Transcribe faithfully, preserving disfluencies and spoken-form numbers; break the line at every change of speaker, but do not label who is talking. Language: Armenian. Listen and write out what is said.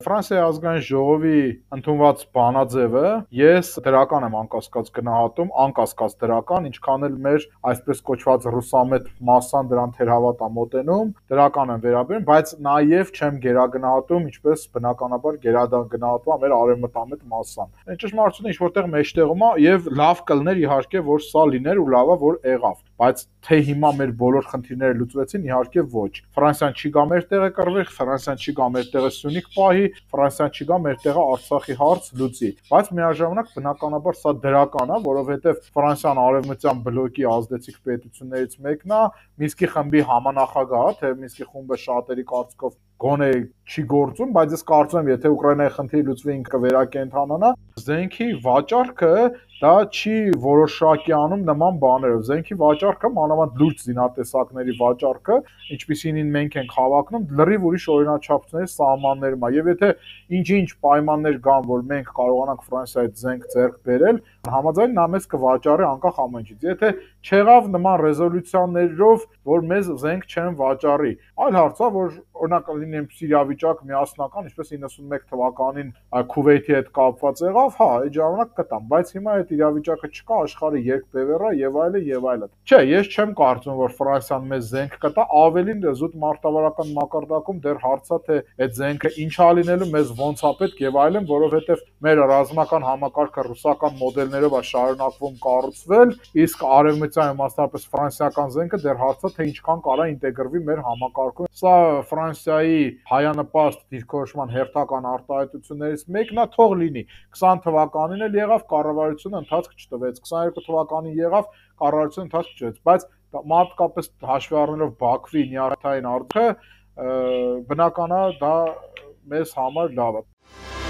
Ֆրանսիայի ազգային ժողովի ընդունված բանաձևը ես դրական եմ անկասկած գնահատում, անկասկած դրական, ինչքան էլ մեր այսպես կոչված ռուսամետ մասսան դրան թերհավատ է մոտենում, դրական եմ վերաբերում, բայց նաև չեմ գերագնահատում, ինչպես բնականաբար գերագնահատում է մեր արևմտամետ մասսան։ Ճշմարտությունը ինչ որտեղ մեջտեղում է եւ լավ կլներ իհարկե, որ սա լիներ ու լավա որ եղավ, բայց թե հիմա մեր բոլոր խնդիրները լուծվեցին, իհարկե ոչ։ Ֆրանսիան չի գա մեր տեղը կռվի, Ֆրանսիան չի գա մեր տեղը Սյունիք պահի, Ֆրանսիան չի գա մեր տեղը Արցախի հարց լուծի, բայց միաժամանակ բնականաբար սա դրական է, որովհետև Ֆրանսիան արևմտյան բլոկի ազդեցիկ պետություններից մեկն է, Մինսկի խմբի համանախագահ, թե Մինսկի խումբը շատերի կարծիքով գոնե չի գործում, բայց ես կարծում եմ, եթե Ուկրաինայի խնդիրը լուծվի, ինքը վերակենդանանա, զենքի վաճառքը դա չի որոշակի անում նման բաներով։ Զենքի վաճառքը, մանավանդ լուրջ զինատեսակների վաճառքը, ինչպիսին մենք ենք հավակնում, լրիվ ուրիշ օրինաչափությունների սահմաններում է։ Եվ եթե ինչ-ինչ պայմաններ կան, որ մենք կարողանանք Ֆրանսիայից զենք ձեռք բերել, համաձայն նա մեզ կվաճառի անկախ ամեն ինչից։ Եթե չեղավ նման ռեզոլյուցիաներով, որ մեզ զենք չեն վաճառի, այլ հարց է, որ օրինակ լինի իրավիճակ միասնական, ինչպես իննսունմեկ թվականին Քուվեյթի հետ կապված եղավ, հա, այդ ժամանակ կտամ, բայց հիմա այդ իրավիճակը չկա, աշխարհը երկբևեռ է եւ այլն եւ այլն։ Չէ, ես չեմ կարծում, որ Ֆրանսիան մեզ զենք կտա, ավելին զուտ մարտավարական մակարդակում դեռ հարց է, թե այդ զենքը ինչ է լինելու, մեզ ոնց է պետք եւ այլն, որովհետեւ մեր ռազմական համակարգը ռուսական մոդելներով է շարունակվում կառուցվել, իսկ արևմտյան մասնավորապես ֆրանսիական զենքը դեռ հարց է, թե ինչքան կարա ինտեգրվի մեր համակարգում։ Սա Ֆրանսիայի հայանպաստ դիրքորոշման հերթական արտահայտություններից մեկն է, թող լինի։ քսան թվականին էլ եղավ, կառավարությունը ընթացք չտվեց, քսաներկու թվականին եղավ, կառավարությունը ընթացք չտվեց, բայց մատկապես հաշվի առնելով Բաքվի նյարդային արտքը, բնական է դա մեզ համար լավ է։